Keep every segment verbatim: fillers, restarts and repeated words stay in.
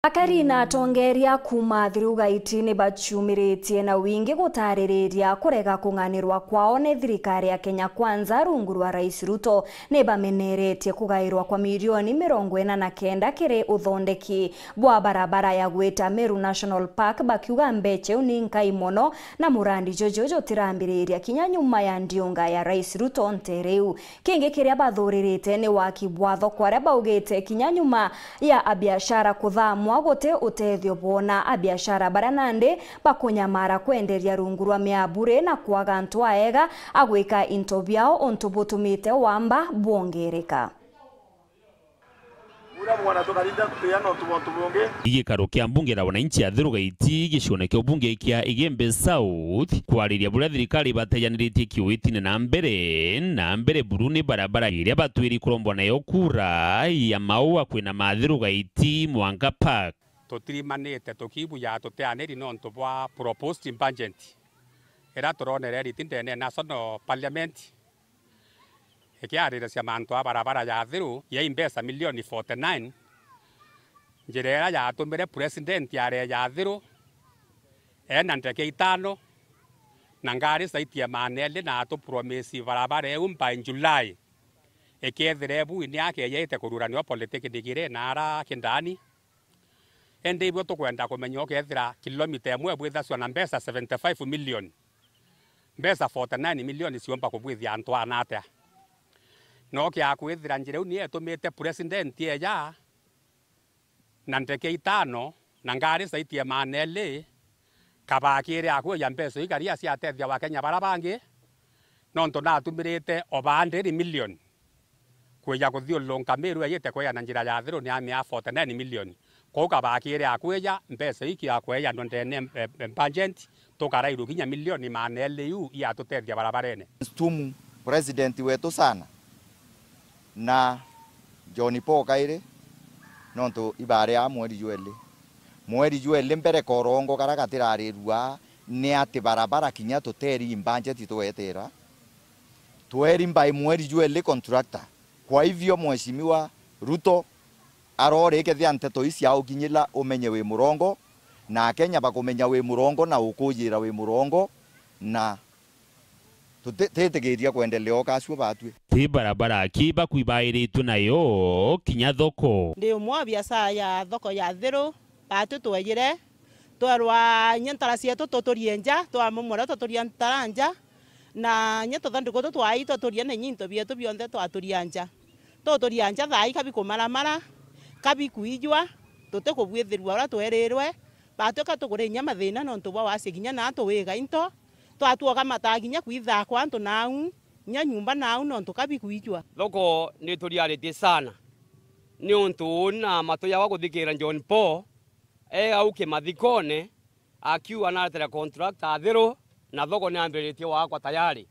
Akari na atongeria kuuma Athiru Gaiti ni baciumiritie na wingi gutaririria kurega kung'anirwa kwao ni thirikari ya Kenya Kwanza rungu rwa Rais Ruto. Ni bameneretie kugairwa kwa milioni mirongo ina na kenda kiri uthondeki bwa barabara ya gwita Meru National Park, bakiuga mbeca iu ni nkai mono na murandi juju jutirambiriria kinya nyuma ya ndiunga ya Rais Ruto ntere iu. Kingi kiria bathuririte ni waki bwa thoko, aria baugite kinya nyuma ya abiashara kuthamwa guti utethio boona. Abiashara baria nandi bakunyamara kwenderia rungu rwa miaburi na kwaga antu aega a gwika into biao, untu butumite wamba bwongereka. Ura mwana tukarinda kuteana untu bwa untu bungi. Gikaro kia mbunge la wananchi Athiru Gaiti gicione kia ubunge kia Igembe South kwariria buria thirikari ibatejaniritie kiuitine na mbere na mbere buru ni barabara iria batwiri kurombwa nayo kura ya maua kwina Mathiru Gaiti Mwanga Park. Tutirimanite tukibuja tuteaniri nontu bwa proposed budget iria turonere riti ndene ya National Parliament ikiariricia mantu a barabara ya Athiru ya mbeca milioni forty nine, njira iria yatumire president areja Athiru ena ndeke itano na ngari zaidi ya maana eli na atupromisi barabara iu by July. Ikethira ibu ni akejaite kururaniwa polytechnic iri na ara Kindani. Indi ibio tukwenda kumenya ukethira kilomita imwe ibwithasua na mbeca seventy five million, mbeca forty nine million ciumba kubwithia antu ana atia? No kia kwithira njira iu ni yetumite president eja na ndeke itano na ngari zaidi ya maana eli, kabakire akuja mbeca iu karia ciatethia Wakenya bara bangi, nontu natumirite over hundred million kwija kuthiurunka Meru ejite kwija na njira ya Athiru ni amia forty nine million. Kou kabakire akwija mbeca iki akwejanwa ndene, eh, eh, budget, tukarairua kinya milioni maana eli iu iatutethia barabarene. Nshtumu president wetu sana na John Paul kairi, nontu ibari a mweri jweli. Mweri jweli mbere korongo karia gatirarirua ni ati barabara kinya tuteri budget twetera. Tweri by mweri jweli contractor. Kwa hivyo, Mheshimiwa Ruto arori kethia nteto ici aukinyila umenye wi murongo, na Akenya bakumenya wi murongo na ukujira wi murongo, na tutitikiria kwendelea o kacio batwi. Ti barabara ki bakwi bairitwe nayo kinya thoko. Ndi umwe wa biashara ya thoko ya Thiru, batwi twejire, twerwa inya ntara cietu tuturie nja, twamomora tuturia ntara nja, na inya tuthanduku tu twai tuturie na inya into bietu bionthe twaturia nja. Tuturia nja thaai kabikumaramara, kabikuijwa, tutikubwithirua uria twerirwe, batwika tukuri inya mathina nontu bwa wasia kinya naa tuwiga into, twatuoga mataa kinya kwithaa kwa antu nau, inya nyumba nau nontu kabikuijwa. Thoko nituriaritie sana, niuntu uu na matu jawa kuthikira John Paul, e au kimathikone, akiuga naretera contractor Athiru, na thoko niambiritie gwakwa tayari.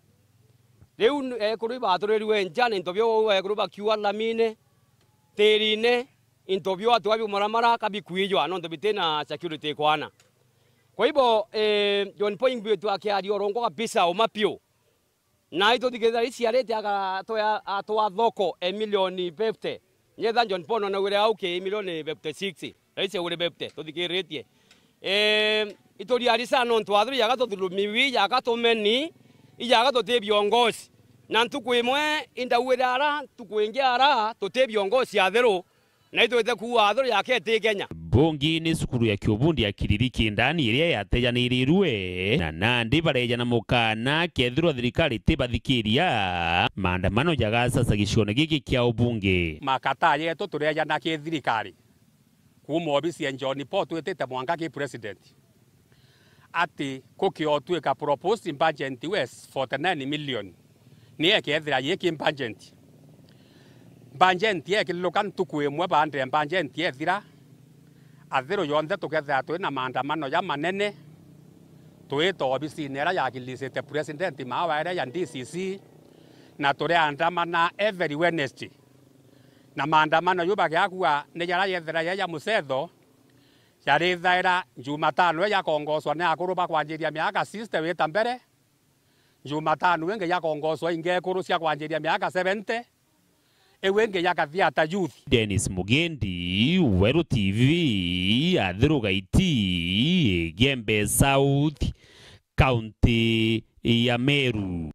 Riu n-, ekuru ibaturirue nja na into bio uu ekuru bakiuga lamine, tirine, into bio atua biumaramara kabikuijwa nontu bitina security ikwana. Kwa hivyo, eh, John Paul ingwitwe akiaria urongo kabisa uma piu. Na ituthikiriria iciarite agatwea, atwa thoko e milioni fifty. Nyetha John Paul nonawire au ki milioni fifty six. Raisi aure fifty, tuthikiritie. Eh, ituriari sana nontu Athiru ijaga tuthulumiwi, ijaga tumeni, ijaga tuti viongozi. Na ntuku imwe indauire ara, ntuku ingi ara, tuti viongozi Athiru. Na itwite kuuga Athiru yake iti Kenya. Bungi ni cukuru ya kiubundi ya Kiriri Kindani iria yatejanirirue, na nandi bareja na mukana kethirwa thirikari tibathikiria, maandamano jagacaca gicione giki kia ubunge. Makata yetu turejana ki thirikari, kuuma obisi ya John Paul twitite mwanka ki president. Ati gukiotwika proposed budget we forty nine million, ni ekethira yiki budget. Budget yekiluka ntuku imwe baada ya budget yethira, Athiru yonthe tukethira twi na maandamano ja manene, twita obisine iria yakilisite president maawa iria ya D C C, na turiandamana every Wednesday. Na maandamano ju bagiakua ni jaria yethira ja ja mucetho, jarithaira Jumatano ii jakongoswa ni akuru ba kwanjiria miaka sixty wita mbere, Jumatano ingi jakongoswa ingi ekuru cia kwanjiria miaka seventy, Iu ingi ya Gathiata Youth. Dennis Mugendi, Weru T V, Athiru Gaiti, Igembe South, County ya Meru.